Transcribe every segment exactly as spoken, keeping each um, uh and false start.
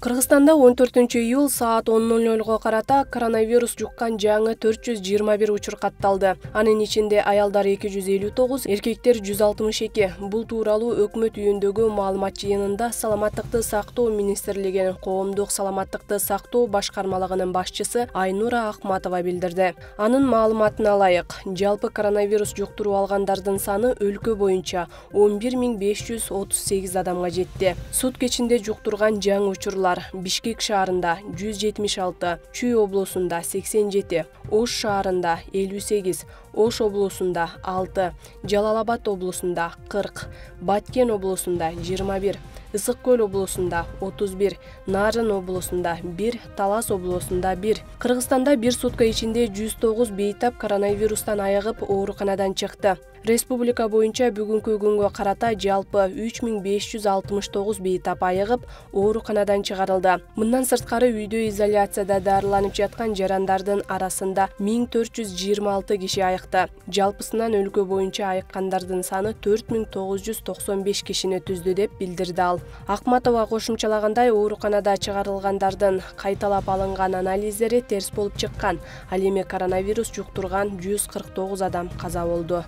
Кыргызстанда он төртүнчү июль саат он ноль нольго карата коронавирус жуккан жаңы төрт жүз жыйырма бир учур катталды. Анын ичинде аялдар эки жүз элүү тогуз, эркектер жүз алтымыш эки. Бул тууралуу өкмөт үйүндөгү маалымат жыйынында Саламаттыкты сактоо министрлигинин коомдук саламаттыкты сактоо башкармалыгынын башчысы Айнура Акматова билдирди. Анын маалыматына ылайык, жалпы коронавирус жуктуруп алгандардын саны өлкө боюнча он бир миң беш жүз отуз сегиз адамга жетти. Сутка ичинде жуктурган жаңы учурлар Бишкек шаарында жүз жетимиш алты, Чүй облусунда сексен жети, Ош шаарында элүү сегиз, Ош облусунда алты, Жалал Абад облусунда кырк, Баткен облусунда жыйырма бир, Ысык көл облусунда отуз бир, Нарын облусунда бир, Талас облусунда бир. Кыргызстанда бир сутка ичинде жүз тогуз бейтап коронавирустан айыгып ооруканадан чыкты. Республика боюнча бүгүнкү күнгө карата жалпы үч миң беш жүз алтымыш тогуз бейтап айыгып ооруканадан чыгарылды. Мындан сырткары үйдө изоляцияда дарыланып жаткан жарандардын арасында миң төрт жүз жыйырма алты киши айыкты. Жалпысынан өлкө боюнча айыккандардын саны төрт миң тогуз жүз токсон беш кишини түздү деп билдирди ал. Акматова кошумчалагандай, ооруканада чыгарылгандардын кайталап алынган анализдери терс болуп чыккан. Ал эми коронавирус жуктурган жүз кырк тогуз адам каза болду.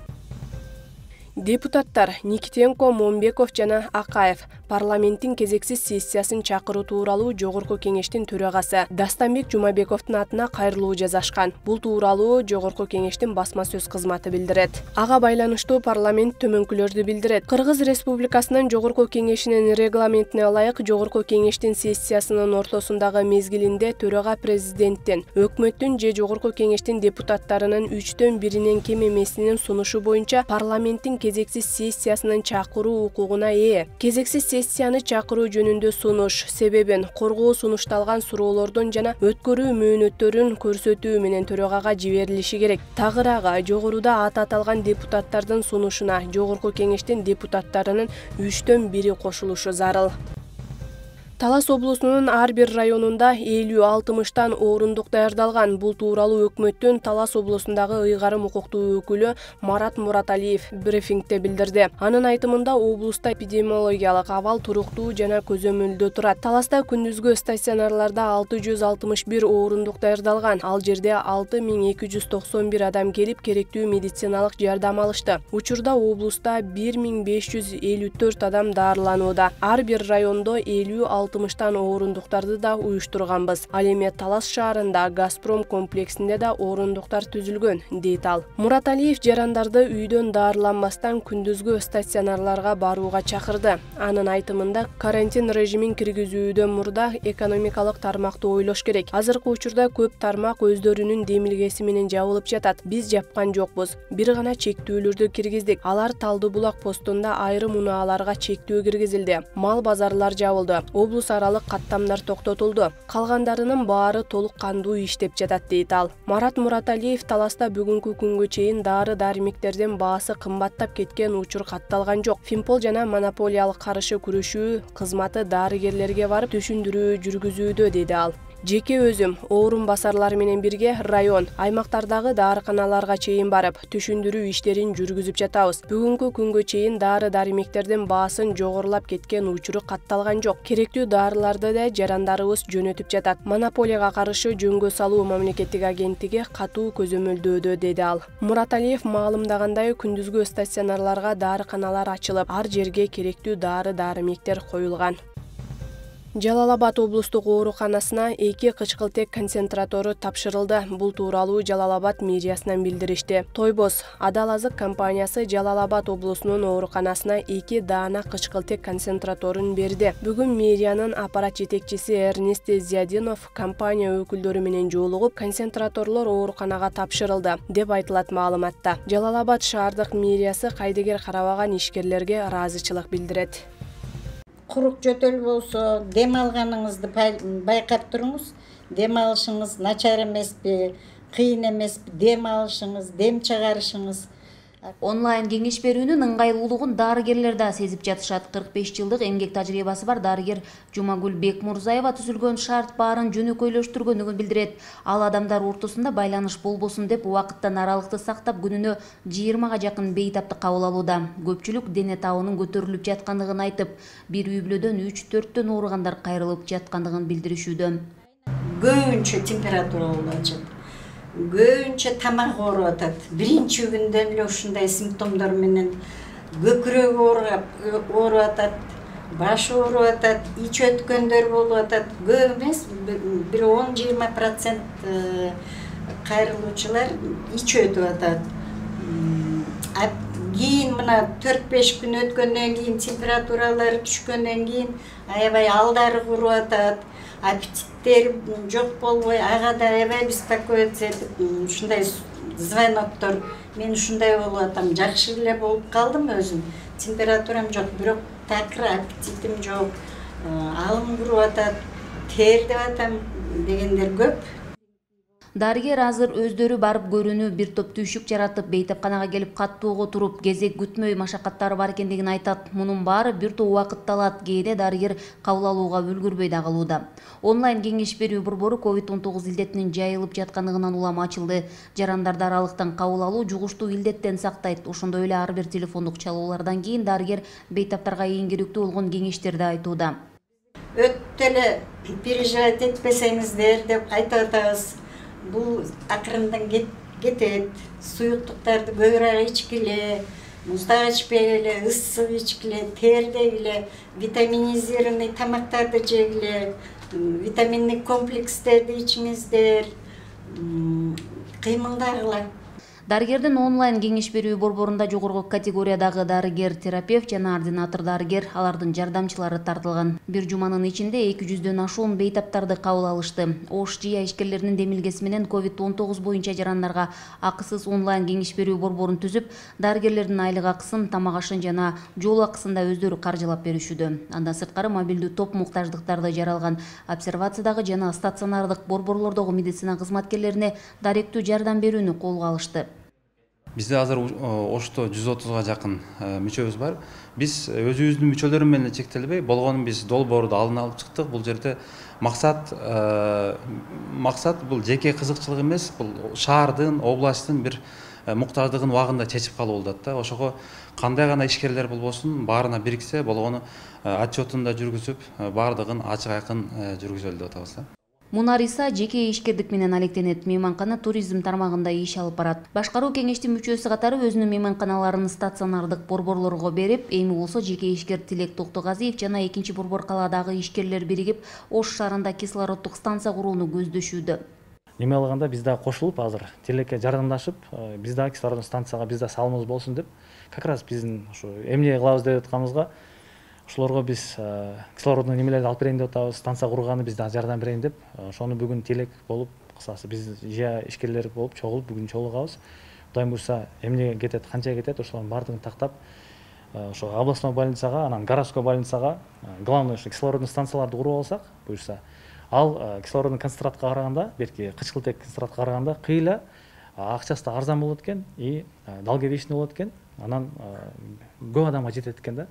Депутаттар Никитенко, Момбеков жана Акаев парламенттин кезексиз сессиясын чакыруу тууралуу Жогорку кеңештин төрагасы Дастанбек Жумабековдун атына кайрылуу жазашкан. Бул тууралуу Жогорку кеңештин басма сөз кызматы билдирет. Ага байланыштуу парламент төмөнкүлөрдү билдирет. Кыргыз Республикасынын Жогорку кеңешинин регламентине ылайык, Жогорку кеңештин сессиясынын ортосундагы мезгилинде төрага президенттин, өкмөттүн же Жогорку кеңештин депутаттарынын үчтөн биринен кем эмесинин сунушу боюнча парламенттин кезексиз сессиясынын чакыруу укугуна ээ. Кезексиз сессияны чакыруу жөнүндө сунуш, себебин, коргоо сунушталган суроолордун жана өткөрүү мөөнөттөрүн көрсөтүү менен төрагага жиберилиши керек. Тагыраагы жогоруда аты аталган депутаттардын сунушуна Жогорку кеңештин депутаттарынын үчтөн бири кошулушу зарыл. Талас облусунун ар бир районунда элүү алтымыштан орундук даярдалган. Бул тууралуу өкмөттүн Талас облусундагы ыйгарым укуктуу өкүлү Марат Мураталиев брифингде билдирди. Анын айтымында, облуста эпидемиологиялык абал туруктуу жана көзөмөлдө турат. Таласта күндүзгү стационарларда алты жүз алтымыш бир орундук даярдалган. Ал жерде алты миң эки жүз токсон бир адам келип керектүү медициналык жардам алышты. Учурда облуста бир миң беш жүз элүү төрт адам дарыланууда. Ар бир райондо элүү алтымыштан орундуктарды да уюштурганбыз. Ал эми Талас шаарында Газпром комплексинде да орундуктар түзүлгөн, дейт ал. Мураталиев жарандарды үйдөн дарыланбастан күндүзгү стационарларга барууга чакырды. Анын айтымында, карантин режимин киргизүүдөн мурда экономикалык тармакты ойлош керек. Азыркы учурда көп тармак өздөрүнүн демилгеси менен жабылып жатат. Биз жапкан жокпуз. Бир гана чектүүлөрдү киргиздик. Алар Талды булак постунда айрым унааларга чектөө киргизилди. Мал базарлар жабылды. Облус аралык каттамдар токтотулду. Калгандарынын баары толук кандуу иштеп жатат, дейт ал. Марат Мураталиев Таласта бүгүнкү күнгө чейин дары-дармектердин баасы кымбаттап кеткен учур катталган жок. Фимпол жана монополиялык каршы күрөшүү кызматы дарыгерлерге барып түшүндүрүү жүргүзүүдө, деди ал. Жеке өзүм орун басарлар менен бирге район, аймактардагы дарыканаларга чейин барып, түшүндүрүү иштерин жүргүзүп жатабыз. Бүгүнкү күнгө чейин дары-дармектердин баасын жогорулап кеткен учуру катталган жок. Керектүү дарыларды да жарандарыбыз жөнөтүп жатат. Монополияга каршы жөнгө салуу мамлекеттик агенттиги катуу көзөмөлдөөдө, деди ал. Мураталиев маалымдагандай, күндүзгү стационарларга дарыканалар ачылып, ар жерге керектүү дары-дармектер коюлган. Жалал Абад облустук ооруканасына эки кычкылтек концентратору тапшырылды. Бул тууралуу Жалал Абад мэриясынан билдиришти. Тойбоз Адал азык компаниясы Жалал Абад облусунун ооруканасына эки даана кычкылтек концентраторун берди. Бүгүн мэриянын аппарат жетекчиси Эрнест Зиядинов компания өкүлдөрү менен жолугуп, концентраторлор ооруканага тапшырылды, деп айтылат маалыматта. Жалал Абад шаардык мэриясы кайдыгер карабаган ишкерлерге ыраазычылык билдирет. Курук жөтөл болсо, дем алганыңызды байкап туруңуз. Дем алышыңыз начар эмеспи, кыйын эмеспи, дем алышыңыз, дем чыгарышыңыз. Онлайн кеңеш берүүнүн ыңгайлуулугун дарыгерлер да сезип жатышат. кырк беш жылдык эмгек тажрыйбасы бар дарыгер Жумагүл Бекмурзаева түзүлгөн шарт баарын жөнөкөйлөштүргөнүн билдирет. Ал адамдар ортосунда байланыш болбосун деп убакыттан аралыкты сактап күнүнө жыйырмага жакын бейтапты кабыл алууда. Көпчүлүк дене табынын көтөрүлүп жаткандыгын айтып, бир үй бүлөдөн үч төрттөн ооругандар кайрылып жаткандыгын билдиришүүдө. Көбүнчө температура болуп атат. Көбүнчө тамак ооруп атат. Биринчи күндөн эле ушундай симптомдор менен көкүрөк ооруп атат, баш ооруп атат, ич өткөндөр болуп атат. Көп эмес, бир он жыйырма процент кайрылуучулар ич өтүп атат. Кийин мына төрт беш күн өткөндөн кийин температуралары түшкөндөн кийин аябай алдары куруп атат. Аппетиттер жок болбой, ага да аябай беспокоиться этип, ушундай звоноктор. Мен ушундай болуп атам, жакшы эле болуп калдым өзүм. Температурам жок, бирок такыр аппетитим жок, алым куруп атат, тердеп атам дегендер көп. Дарыгер азыр өздөрү барып көрүүнү бир топ түйшүк жаратып, бейтапканага келип каттоого туруп, кезек күтмөй машакаттары бар экендигин айтат. Мунун баары бир топ убакытты алат. Кээде дарыгер кабыл алууга үлгүрбөй да калууда. Онлайн кеңеш берүү борбору ковид он тогуз илдетинин жайылып жаткандыгынан улам ачылды. Жарандарды аралыктан кабыл алуу жугуштуу илдеттен сактайт. Ошондой эле ар бир телефондук чалуулардан кийин дарыгер бейтаптарга эң керектүү болгон кеңештерди айтууда. Өтө эле переживать этпесеңиздер деп айтып атабыз. Бул акырындан кетет. Суюктуктарды көбүрөөк ичкиле, муздак ичпегиле, ысык ичкиле, тердегиле, витаминизированный тамактарды жегиле, витаминдик комплекстерди ичиңиздер, кыймылдагыла. Дарыгердин онлайн кеңеш берүү борборунда жогорку категориядагы дарыгер, терапевт жана ординатор дарыгер, алардын жардамчылары тартылган. Бир жуманын ичинде эки жүздөн ашуун бейтаптарды кабыл алышты. Ош жыя ишкерлеринин демилгеси менен ковид он тогуз боюнча жарандарга акысыз онлайн кеңеш берүү борборун түзүп, дарыгерлердин айлык акысын, тамак ашын жана жол акысын да өздөрү каржылап беришүүдө. Андан сырткары мобилдүү топ муктаждыктарды жаралган обсервациядагы жана стационардык борборлордогу медицина кызматкерлерине даректүү жардам берүүнү колго алышты. Бизде азыр Ошто жүз отузга жакын мүчөбүз бар. Биз өзүбүздүн мүчөлөрү менен чектелбей, болгону биз долбоорду алдын алып чыктык. Бул жерде максат максат бул жеке кызыкчылык эмес, бул шаардын, областтын бир муктаждыгын убагында чечип калуу болот да. Ошого кандай гана ишкерлер болбосун, баарына бириксе, болгону отчетун да жүргүзүп, баардыгын ачык айкын жүргүзөлү деп атабыз да. Мунар Иса жеке ишкердик менен алектенет. Мейманкана туризм тармагында иш алып барат. Башкаруу кеңештин мүчөсү катары өзүнүн мейманканаларын стационардык борборлорго берип, эми болсо жеке ишкер Тилек Токтогазиев жана экинчи борбор калаадагы ишкерлер биригип, Ош шаарында кислороддук станция курууну көздөшүүдө. Неме алганда биз да кошулуп азыр Тилекке жардамдашып, биз да кислороддук станцияга биз да салымыбыз болсун деп, как раз биздин ушу эмне кылабыз деп атканыбызга ошолорго биз кислородный немелерди алып берейин деп атабыз, станция курганы биз да жардам берейин деп, ошону бүгүн Тилек болуп, кысасы биз жыя ишкерлер болуп чогулуп бүгүн чогулгабыз. Кудайым буйрса, эмне кетет, канча кетет, ошолордун баардыгын тактап, ошо областной больницага, анан городской больницага, главный ушу кислородный станцияларды куруп алсак, буйрса, ал кислородный концентратка караганда, берки кычкылтек концентратка караганда кыйла акчасы да арзан болот экен, и долговечный болот экен, анан көп адамга жетет экен да.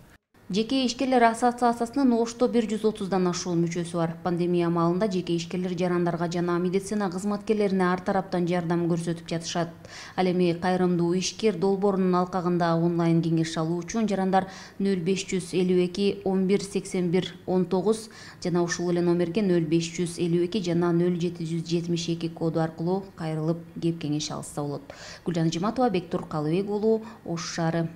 Жеке ишкерлер ассоциациясынын Ошто бир жүз отуздан ашуун мүчөсү бар. Пандемия маалында жеке ишкерлер жарандарга жана медицина кызматкерлерине ар тараптан жардам көрсөтүп жатышат. Ал эми кайрымдуу ишкер долбоорунун алкагында онлайн кеңеш алуу үчүн жарандар нөл беш жүз элүү эки он бир сексен бир он тогуз жана ушул эле номерге нөл беш жүз элүү эки жана нөл жети жүз жетимиш эки коду аркылуу кайрылып кеп кеңеш алса болот. Гүлжан Жиматова, Бектур Калыбек уулу, Ош шаары.